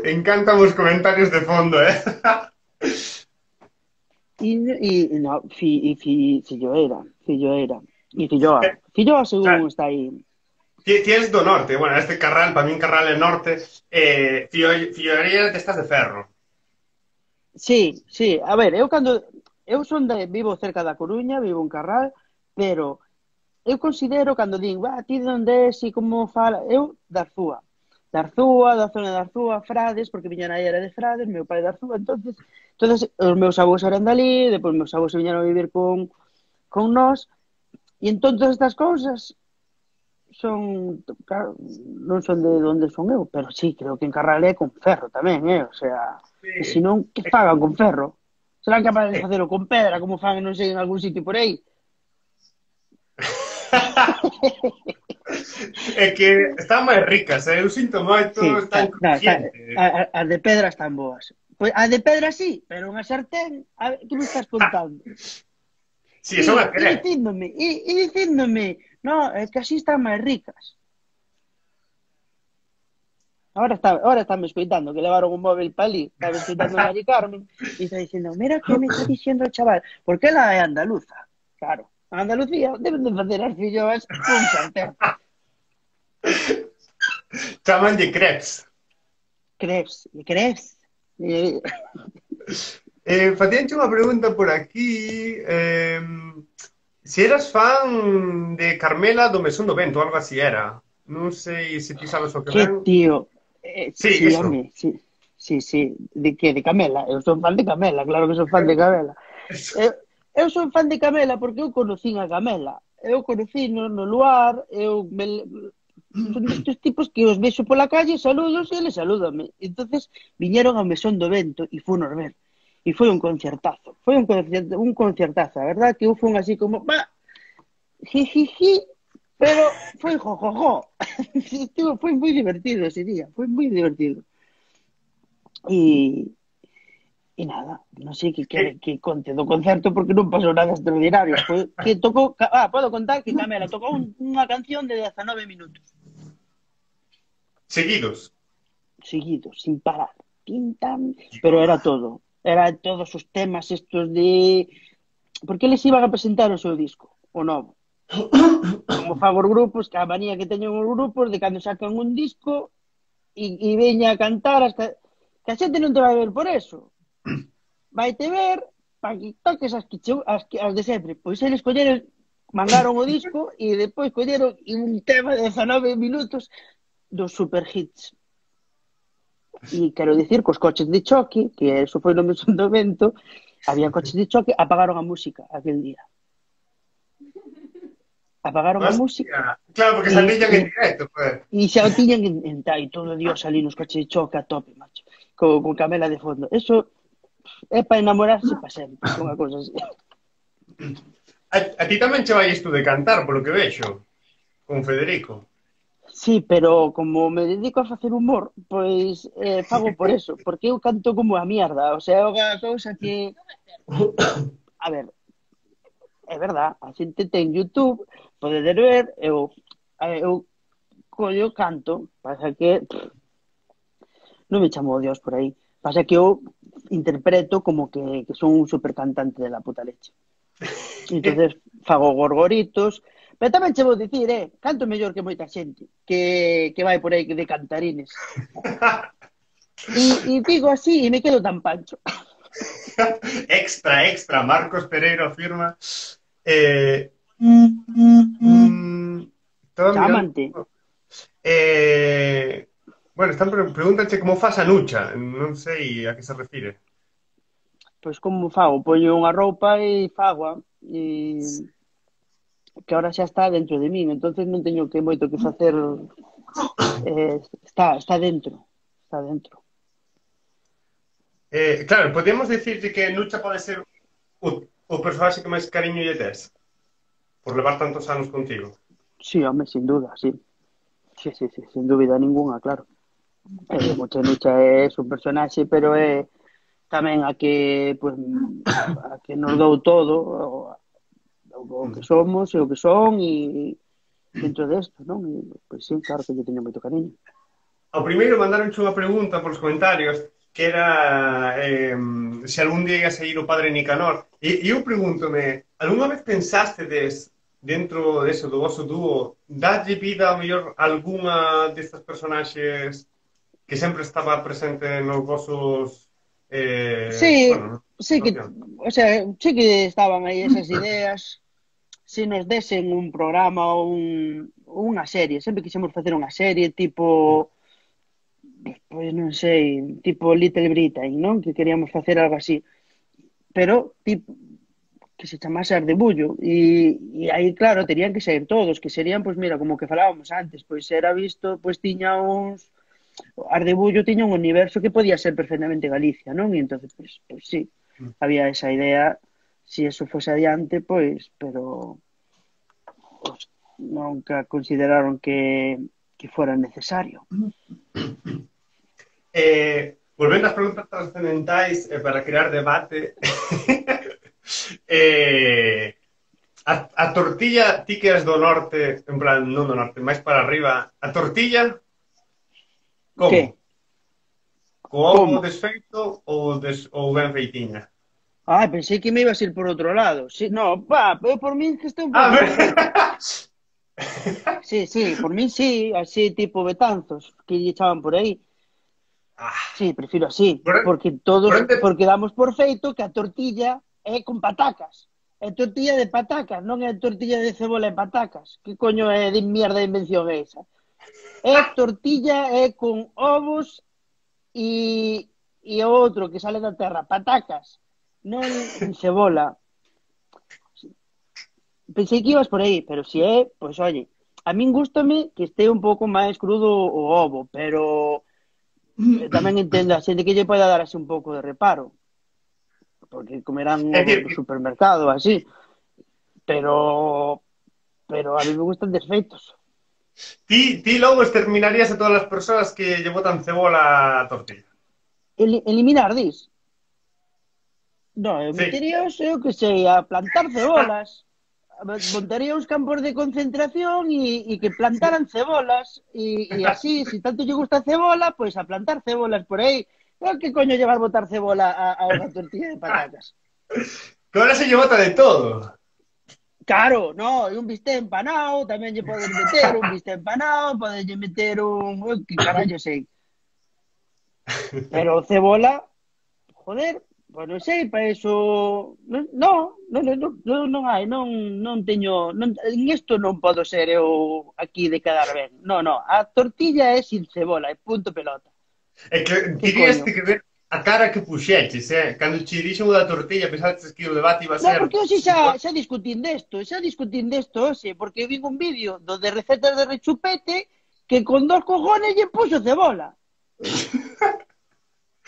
Encantan os comentarios de fondo, eh? No, filloeira, filloeira. E filloa. Filloa según Claro, está aí. ti és do norte, bueno, este Carral, para min Carral é norte, filloerías destas de ferro. Sí, sí. A ver, eu son vivo cerca da Coruña, vivo en Carral, pero eu considero cando din, ti de onde és e como fala, eu da Arzúa. Da zona da Arzúa, Frades, porque miña nai era de Frades, meu pai da Arzúa, entonces os meus avós eran dali, depois meus avós se viñeron a vivir con nós, e entón todas estas cousas son, claro, non son de onde son eu, pero sí, creo que en Carral é con ferro tamén, o sea, e se Sí. non, que fagan con ferro? Serán capaces de facelo con pedra, como fan, non sei, en algún sitio por aí? É que están máis ricas, eu sinto moito, Sí, están crujientes. as de pedra están boas. Pois a de pedra sí, pero unha sartén, que me estás contando? Si, son a E querer. dicíndome, no, é que así están máis ricas. Ahora está me escoitando, que levaron un móvil para ali, estaba escoitando a Mari Carmen, e está dicindo, mira que me está diciendo o chaval, porque ela é andaluza, claro. A Andalucía deben de facer as filloas con sartén. Chamanlle crepes. Crees? Facíanche unha pregunta por aquí. Se eras fan de Carmela do Mesón do Vento, algo así era. Non sei se ti sabes o que Que ven. tío, Sí, sí, eso. home, sí, sí, sí, de que, de Camela, eu son fan de Camela, claro que son fan de Camela. Eso. Eu son fan de Camela porque eu conocín a Camela, eu conocí no Luar, son destes tipos que os vexo pola calle, saludos e eles salúdame. Entonces viñeron ao Mesón do Vento e funos ver. E foi un concertazo, un concertazo, a verdad que eu fun así como, jijiji, pero foi jojojo. Foi moi divertido ese día, foi moi divertido. E, e nada, non sei que quere que conte do concerto porque non pasou nada extraordinario. Foi que tocou, podo contar que Camela tocou unha canción de 19 minutos. Seguidos. Seguidos, sin parar. Pintan, pero era todo. Era todos os temas estos de... Porque eles iban a presentar o seu disco, o novo. Como fago os grupos, que a manía que teñen os grupos de cando sacan un disco e veña a cantar hasta... Que a xente non te vai ver por eso. Vaite ver para que toques as de sempre. Pois eles colleron, mandaron o disco e depois colleron un tema de 19 minutos dos super hits. E quero dicir que os coches de choque, que eso foi no Mesón do Vento, había coches de choque, apagaron a música aquel día. Apagaron a música Hostia. Claro, porque salían en directo, pues. e xa o tiñan en tai, todo Dios ali nos coches de choque a tope, macho, con Camela de fondo. Eso é para enamorarse para sempre, unha cosa así. A ti tamén che vai isto de cantar, polo que vexo, con Federico. Sí, pero como me dedico a facer humor, pois fago por eso, porque eu canto como a mierda, o sea, é unha cousa que, a ver, é verdad, a xente ten YouTube, podedes ver, eu collo canto, pasa que non me chamo Dios por aí, pasa que eu interpreto como que son un supercantante de la puta leche. Entonces fago gorgoritos, pero tamén che vou dicir, canto mellor que moita xente que vai por aí de cantarines. E digo así e me quedo tan pancho. Extra, extra, Marcos Pereiro afirma. Estaba mirando. Chámante. Bueno, están pregúntanche como faz a nucha. Non sei a que se refire. Pois como fago? Poño unha roupa e fago e que ahora xa está dentro de min, entonces non teño que moito que facer, está dentro, está dentro. Claro, podemos dicirte que Nucha pode ser o personaxe que máis cariño lle tes por levar tantos anos contigo. Sí, home, sin duda, sí. Sí, sí, sí, sin dúbida ninguna, claro. Nucha é un personaxe, pero é tamén a que, pues, a que nos dou todo, o que somos e o que son, e dentro desto, non? E, pois sí, claro que lle teño moito cariño. Ao primeiro mandaronche unha pregunta polos comentarios que era se algún día ia sair o padre Nicanor. E eu pregúntome, algunha vez pensástedes dentro deso do vosso dúo darlle vida ao mellor algunha destas personaxes que sempre estaba presente nos vosos Sí, bueno, sí que, o sea, sí que estaban aí esas ideas, se nos desen un programa ou unha serie, sempre quixemos facer unha serie tipo, pois non sei, tipo Little Britain, non? Que queríamos facer algo así, pero tipo que se chamase Ardebullo e aí claro, terían que ser todos, que serían, pois mira, como que falábamos antes, pois era visto, pois tiña uns Ardebullo tiña un universo que podía ser perfectamente Galicia, non? E entonces, pois sí, había esa idea, si eso fose adiante, pois, pero pues, nunca consideraron que fuera necesario. Volvendo ás preguntas trascendentais para crear debate a tortilla, ti que és do norte, en plan, non do norte, máis para arriba, a tortilla como? Que? Co ovo Como? desfeito ou ben feitinha? Pensei que me ibas a ir por outro lado. Sí, no, eu por min que estou un pouco perfecto. Sí, sí, por min sí, así tipo Betanzos, que lle echaban por aí. Sí, prefiro así, porque damos por feito que a tortilla é con patacas. É tortilla de patacas, non é tortilla de cebola e patacas. Que coño é de mierda de invención esa? É tortilla con ovos e outro que sale da terra, patacas, non cebola. Pensei que ibas por aí, pero se é, pois oye, a min gústame que este un pouco máis crudo o ovo, pero tamén entendo a xente que lle pode dar así un pouco de reparo, porque comerán un ovo do supermercado, así, pero a mí me gustan desfeitos. Ti logo exterminarías a todas as persoas que lle botan cebola á tortilla. Eliminar, dis? Non, eu Sí. metería, eu que sei, a plantar cebolas. Montaría uns campos de concentración e que plantaran cebolas e así, se tanto lle gusta a cebola, pois a plantar cebolas por aí. Que coño llevar botar cebola a unha tortilla de patacas? Que ahora se lle bota de todo. Claro, no, e un bistec empanado, tamén lle podes meter un bistec empanado, podes meter un... que carallo sei. Pero cebola, joder, pois non sei, para eso... Non hai, non teño... En isto non podo ser eu aquí de quedar ben. Non, a tortilla é sin cebola, é punto pelota. É que dirías que ver a cara que puxeches, cando che dixen o da tortilla, pensaste que o debate iba a ser... Non, porque hoxe xa discutín desto, hoxe, porque vi un vídeo de recetas de rechupete que con 2 cojones lle puxo cebola.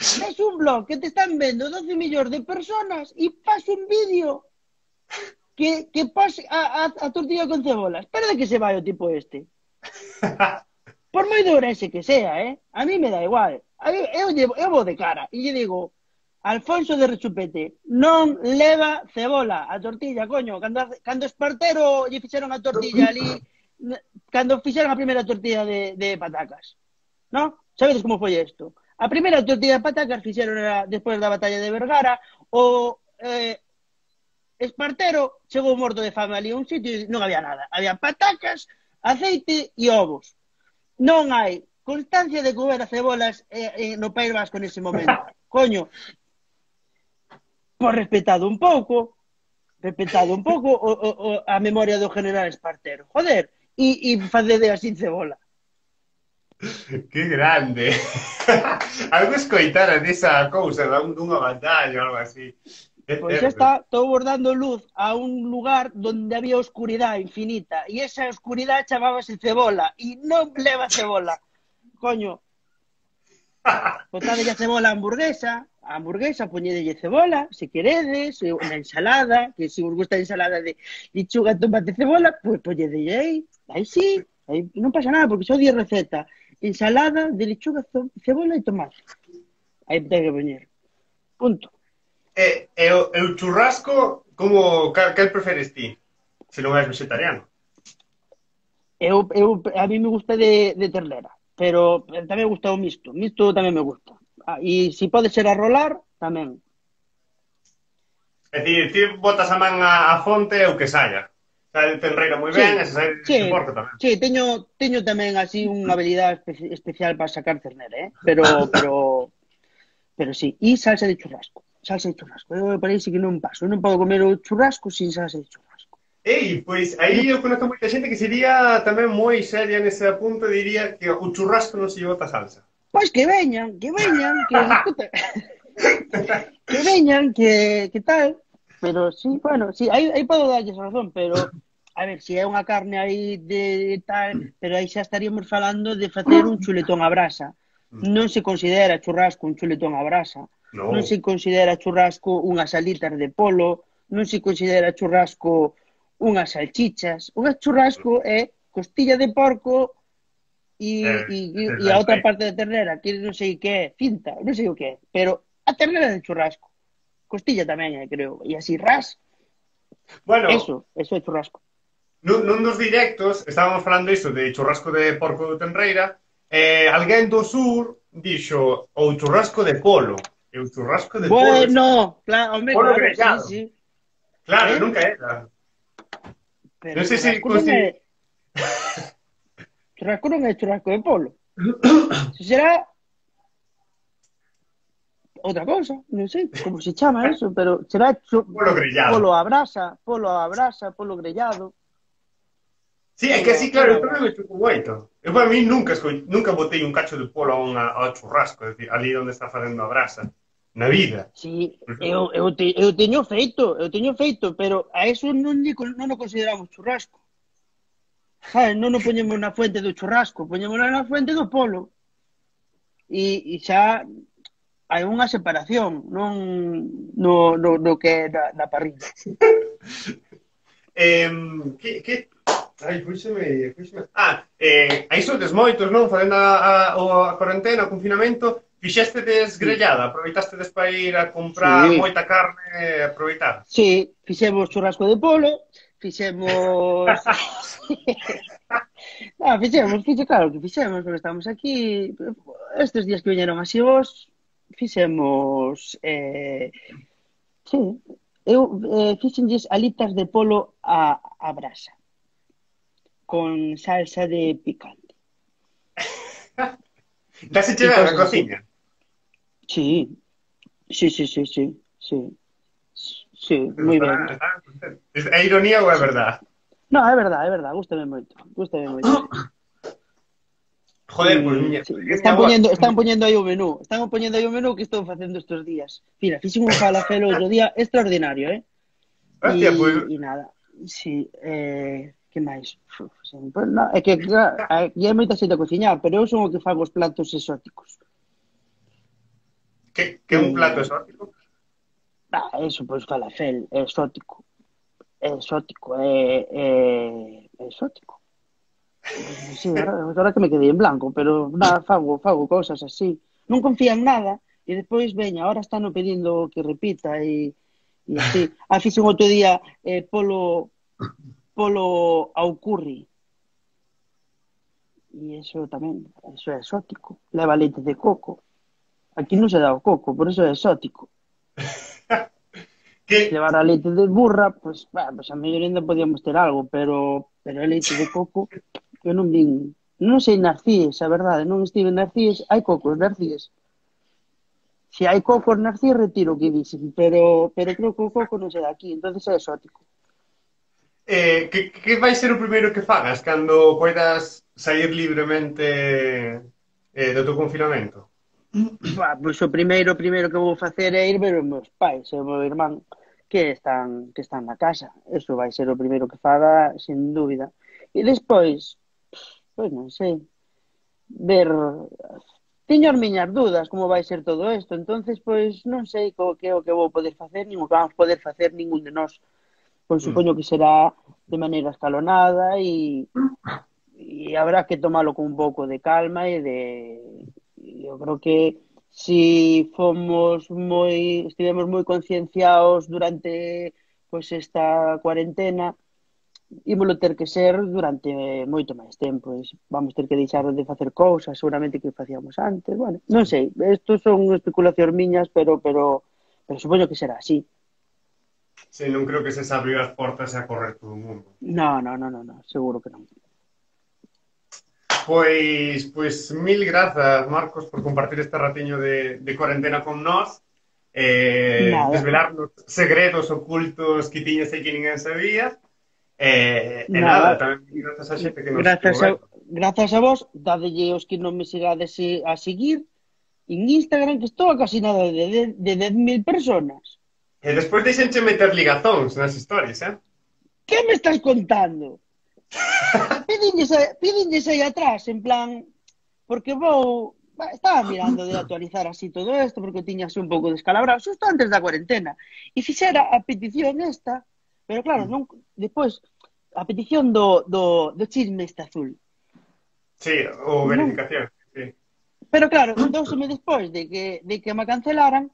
Es un blog que te están vendo 12 millóns de personas e pasa un vídeo que pasa a tortilla con cebola. Espera de que se vai o tipo este. Por moi de Ourense que sea, a mí me dá igual. Eu vou de cara e lle digo, Alfonso de Rechupete, non leva cebola a tortilla, coño. Cando Espartero lle fixeron a tortilla ali, cando fixeron a primeira tortilla de patacas, non? Sabedes como foi isto? A primeira tortilla de patacas fixeron despois da batalla de Vergara, o Espartero chegou morto de fame ali a un sitio e non había nada. Había patacas, aceite e ovos. Non hai constancia de que houbera cebolas no País Vasco nese momento. Coño, pois respetado un pouco a memoria do general Espartero. Joder, e facede así cebola. Que grande. Algo escoitara desa cousa dunha batalla ou algo así. Pois xa está, estou dando luz a un lugar onde había oscuridade infinita e esa oscuridade chamábase cebola e non leva cebola. Coño, botadelle a cebola a hamburguesa poñedelle cebola, se queredes, na ensalada, que se vos gusta a ensalada de lechuga, tomate, cebola, pois poñedelle aí sí, aí non pasa nada, porque só di receta, ensalada de lechuga, cebola e tomate. Aí ten que poñer. Punto. E o churrasco, cal preferes ti? Se non és vegetariano. A mí me gusta de ternera, pero tamén me gusta o misto. Misto tamén me gusta. E se pode ser a rolar, tamén. É dicir, ti botas a man a fonte e o que saia. Sae de tenreira moi ben, e se sae de porco tamén. Sí, teño tamén así unha habilidade especial para sacar ternera, pero sí. E salsa de churrasco. Eu parece que non paso. Non podo comer o churrasco sin salsa de churrasco. Pois aí eu conozco moita xente que sería tamén moi seria nese punto, diría que o churrasco non se lle bota salsa. Pois que veñan, que escuta. Que veñan, que tal. Pero sí, bueno, sí, aí podo darlles razón, pero a ver, se é unha carne aí de tal, pero aí xa estaríamos falando de facer un chuletón a brasa. Non se considera churrasco un chuletón a brasa. Non se considera churrasco unhas alitas de polo, non se considera churrasco unhas salchichas. Un churrasco é costilla de porco e a outra parte da ternera, que non sei que é, cinta, non sei o que é, pero a ternera de churrasco. Costilla tamén, creo, e así ras. Bueno, eso é churrasco. Nun dos directos estábamos falando iso de churrasco de porco de tenreira, alguén do sur dixo o churrasco de polo. E o churrasco de polo. Bueno, claro, hombre, polo claro, grellado. Sí. Claro, nunca era. Pero non sei se... Churrasco non é churrasco de polo. Se será outra cousa, non sei como se chama eso, pero será polo grellado. Polo a brasa, polo grellado. Sí, é que así, claro, eu tamén me chupo moito. Eu para mí nunca botei un cacho de polo ao churrasco, é dicir, ali onde está facendo a brasa. Na vida. Sí, eu teño feito, pero a eso non o consideramos churrasco. Non o poñemos na fuente do churrasco, poñemos na fuente do polo. E xa hai unha separación, non no que é na parrilla. Ai, fúxeme. Aí sodes moitos, non? Facendo a cuarentena, o confinamento, fixestedes grellada, aproveitastedes para ir a comprar moita carne, aproveitar. Sí, fixemos churrasco de polo, fixemos... claro que fixemos, porque estamos aquí, estes días que viñeron así vos, fixemos... sí, eu fixenlles alitas de polo a brasa, con salsa de picante. Dase chegar na cociña? Sí, moi ben. É ironía ou é verdade? No, é verdade, gústame moito. Joder, pues están poñendo aí o menú. Que estou facendo estes días. Mira, fixen un falafel outro día extraordinario, Hostia, pues... E nada, sí, que máis? É que hai moita xente a cociñar, pero eu son o que fago os platos exóticos. Que é un plato exótico? Eso, pois falafel, é exótico. É exótico. Sí, agora que me quedei en blanco, pero nada, fago cosas así. Non confía en nada e despois, veña, ahora están no pedindo que repita e así. Fixen outro día polo ao curry e eso tamén, eso é exótico. Leva leite de coco. Aquí non se dá o coco, por eso é exótico. Se Que, levara leite de burra, pues a mellor ainda podíamos ter algo, pero é leite de coco. Eu non vin, non sei Narcíes, a verdade, non estive en Narcíes, hai cocos Narcíes. Se hai cocos Narcíes, retiro o que dixen, pero creo que o coco non se dá aquí, entonces é exótico. que vai ser o primeiro que fagas cando poidas sair libremente do teu confinamento? Pois o primeiro que vou facer é ir ver os meus pais e o meu irmán que están na casa. Eso vai ser o primeiro que faga, sin dúbida. E despois, pois non sei, ver. Teño as miñas dudas como vai ser todo isto, entonces pois non sei que é o que vou poder facer, nin o que vamos poder facer ningún de nós. Pois Mm. supoño que será de maneira escalonada e habrá que tomalo con un pouco de calma eu creo que si estivemos moi concienciados durante pois esta cuarentena, ímolo ter que ser durante moito máis tempo. Vamos ter que deixar de facer cousas seguramente que facíamos antes. Bueno, non sei, isto son especulacións miñas, pero supoño que será así. Sí, non creo que se abriu as portas e a correr todo o mundo. No, seguro que non. Pois mil grazas, Marcos, por compartir este ratiño de cuarentena con nós, Nada, desvelarnos segredos ocultos que tiñas e que ninguén sabía, e nada, nada. tamén mil grazas a xente que nos estuvo Grazas a, vendo. grazas a vos, dadelle os que non me sigades a seguir en Instagram, que estou a casi nada de 10.000 personas. E despois deixenche meter ligazóns nas historias, Que me estás contando? Pídenlles aí atrás, en plan, porque estaba mirando de actualizar así todo isto, porque tiña así un pouco descalabrado, xusto antes da cuarentena, e fixera a petición esta, pero claro, non, despois, a petición do chisme este azul. Sí, ou Non, verificación, sí. pero claro, douseme despois de que me cancelaran,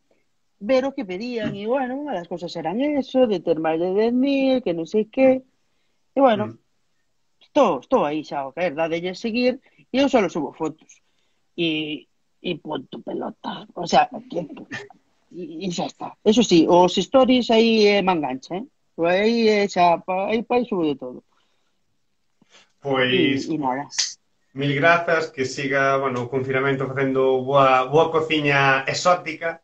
ver o que pedían, e bueno, unha das cousas eran eso, de ter máis de 10.000, que non sei que, e bueno, Mm. estou aí xa, o caer, dadelle seguir, e eu só subo fotos. E punto pelota. O sea, e xa está. Eso sí, os stories aí me engancha, eh? Aí xa, aí subo de todo. Pois, E nada. mil grazas, que siga, bueno, o confinamento facendo boa cociña exótica,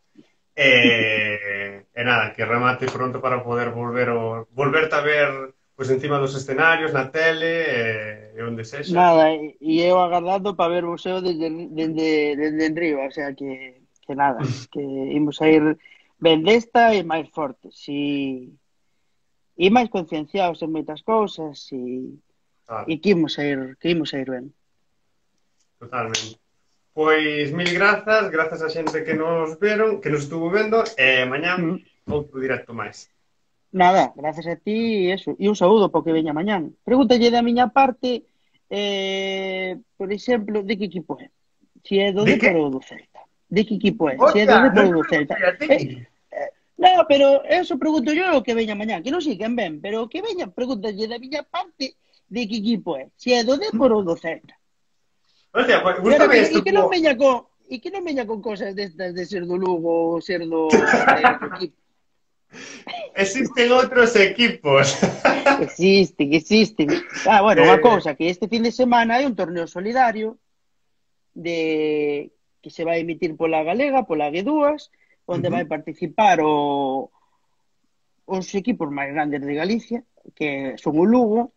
e nada, que remate pronto para poder volverte a ver pois encima dos escenarios, na tele, e onde sexa. Nada, e eu agardando para ver o seu desde enriba, o sea que nada, que imos a ir ben desta e máis fortes e máis concienciados en moitas cousas Claro, e que imos a ir ben. totalmente. Pois mil grazas a xente que nos veron, que nos estuvo vendo, e mañán Mm. outro directo máis. Nada, gracias a ti e eso. E un saúdo porque veña mañán. Pregúntalle da miña parte, por exemplo, de que equipo é? Si é do De que? Depor ou do Celta. De que equipo é? Si é do Hostia, Depor non ou te do Celta. preguntei a ti. No, pero eso pregunto yo o que veña mañán. Que non sei quen ven, pero que veña, pregúntalle da miña parte de que equipo é. Si é do Depor ou do Celta. Hostia, pues E ahora gústame e isto que non como... veña con cosas destas de ser do Lugo ou ser de outro equipo. Existen outros equipos. Existen. Bueno, unha Eh, cousa, que este fin de semana hai un torneo solidario de que se vai emitir pola Galega, pola G2, onde vai participar os equipos máis grandes de Galicia, que son o Lugo,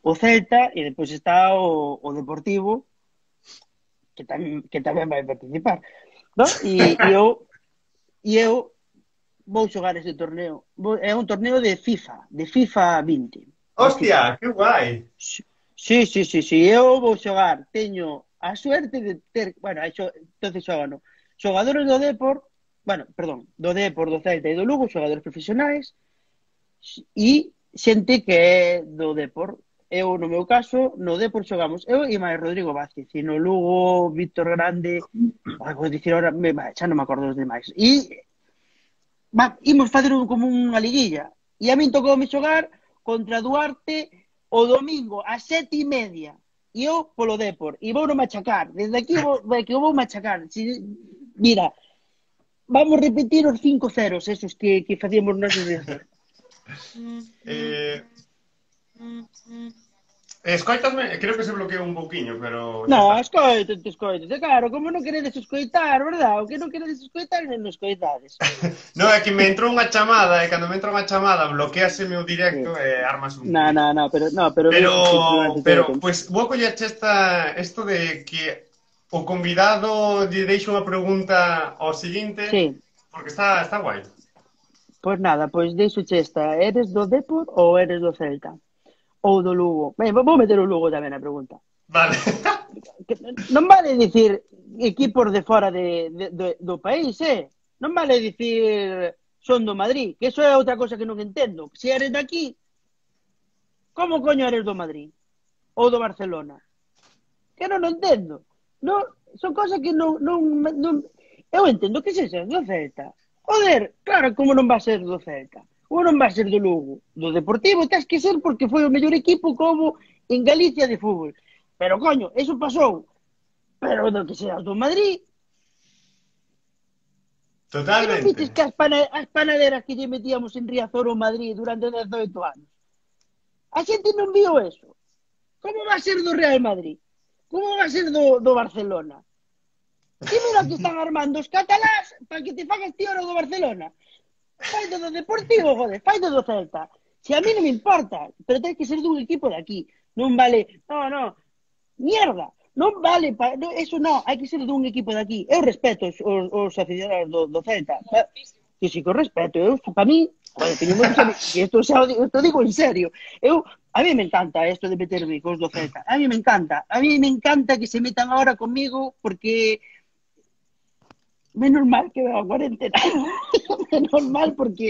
o Celta e depois está o Deportivo, que tamén vai participar. ¿No? E eu vou xogar ese torneo. É un torneo de FIFA 20. De FIFA. Hostia, que guai. Sí, eu vou xogar, teño a suerte de ter, bueno, entonces xogan xogadores do Depor, bueno, perdón, do Depor, do Celta e do Lugo, xogadores profesionais, e xente que é do Depor, Eu, no meu caso, no Depor xogamos eu e máis Rodrigo Vázquez, e no Lugo, Víctor Grande, vou dicir ahora, xa non me acordo dos demais. E imos facer como unha liguilla. E a min tocoume xogar contra Duarte o domingo ás 7:30. E eu polo Depor. E vou no machacar. Desde aquí que eu vou machacar. Mira, vamos repetir os 5-0 esos que facíamos nós desde. Eh, Escoitasme, creo que se bloqueou un pouquiño, pero xa No, está. escoitate. Claro, como non queredes escoitar, verdad? O que non queredes escoitar, non escoitades. No, é que me entrou unha chamada e cando me entra unha chamada bloqueaseme o Sí. directo e armas un No, lío. pero Pero, durante todo o tempo. pues, vou collerche isto de que o convidado lle deixo unha pregunta ao seguinte, Sí, porque está guai. pois nada, pois deixo esta. Eres do Depor ou eres do Celta? Ou do Lugo? Ben, vou meter o Lugo tamén na pregunta. Vale. Que non vale dicir equipos de fora do país, Non vale dicir son do Madrid, que eso é outra cosa que non entendo. Se eres daqui, como coño eres do Madrid? Ou do Barcelona? Que non entendo. Non, son cosas que non. Eu entendo que se seas do Celta. Joder, claro, como non va a ser do Celta? Ou non va a ser do Lugo? Do Deportivo tens que ser porque foi o mellor equipo como en Galicia de fútbol. Pero, coño, eso pasou. Pero do que seas do Madrid, que non Totalmente. vites que as panaderas que lle metíamos en Riazor ou Madrid durante 18 anos? A xente non viu eso. Como va a ser do Real Madrid? Como va a ser do Barcelona? E mira que están armando os catalás para que te fagas ti ahora do Barcelona. Faite do Deportivo, joder, faite do Celta. Se a mí non me importa, pero ten que ser dun equipo de aquí. Non vale, no, mierda, non vale, eso non, hai que ser dun equipo de aquí. Eu respeto os aficionados do Celta. Que sí que o respeto, eu, para mí, joder, teño moitos amigos, e isto digo en serio. A mí me encanta esto de meterme cos do Celta. A mí me encanta que se metan ahora conmigo porque menos mal que veo a cuarentena. Menos mal porque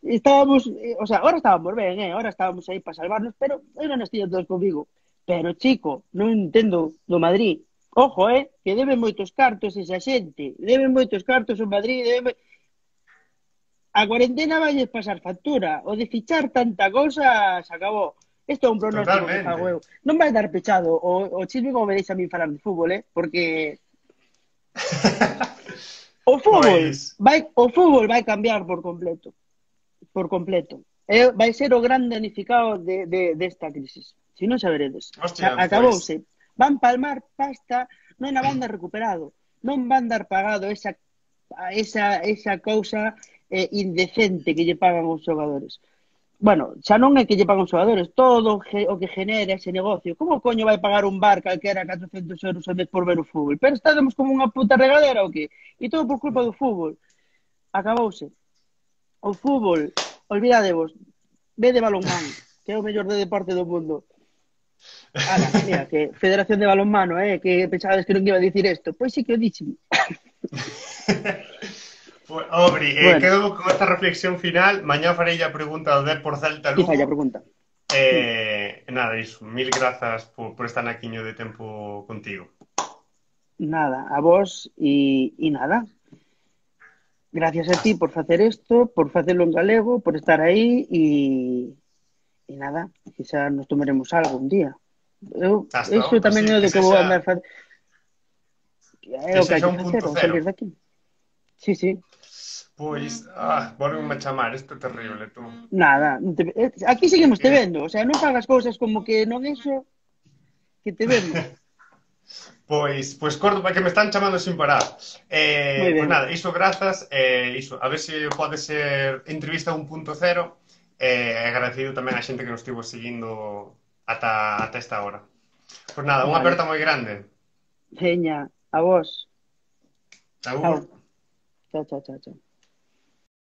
estábamos, o sea, ahora estábamos ben, ahora estábamos aí para salvarnos, pero eu non estivo todos comigo. Pero, chico, non entendo do Madrid. Ojo, que debe moitos cartos esa xente. Debe moitos cartos o Madrid, A cuarentena vai pasar factura. O de fichar tanta cousa se acabou. Isto é un pronóstico que fago Totalmente. eu. Non vai dar pechado o chisme como me deixa a mí falar de fútbol, porque Pois, o fútbol vai cambiar por completo. Por completo. Vai ser o gran danificado desta crisis. Se non xa veredes. hostia, pois, Acabouse. Van palmar pasta, non a van dar recuperado. Non van dar pagado esa cousa indecente que lle pagan os xogadores. Bueno, xa non é que lle pagan os xogadores, todo o que genera ese negocio. Como coño vai pagar un bar calquera 400 euros ao mes por ver o fútbol? Pero estamos como unha puta regadera ou que? E todo por culpa do fútbol. Acabouse. O fútbol, olvidadevos, ve de balonmán, que é o mellor de deporte do mundo. Ala, mira, que Federación de Balonmano, que pensabades que non iba a dicir isto. Pois sí que o dixen. Obri, Bueno, quedo con esta reflexión final. Mañá farei a pregunta do Depor Celta ti Lugo. falla a pregunta. Nada, iso. Mil grazas por estar naquiño de tempo contigo. Nada, a vos e nada. Gracias a ti por facer isto, por facelo en galego, por estar aí e nada, quizá nos tomaremos algo un día. Hasta Iso outro, tamén sí, é o de que vou andar facer. É que o que hai sexa que un facer, punto ao cero. salir daqui. Sí, sí. Pois, volvenme a chamar, isto é terrible, tú. Nada, aquí seguimos te Eh, vendo, o sea, non fagas cousas como que non eso, que te vemos. pois corto para que me están chamando sin parar. Moi Pois ben. nada, iso grazas, iso, a ver se pode ser entrevista 1.0, agradecido tamén a xente que nos estivo seguindo ata esta hora. Pois nada, unha Vale. aperta moi grande. Veña, a vos. Agur. Chao. Chao, chao, chao, chao.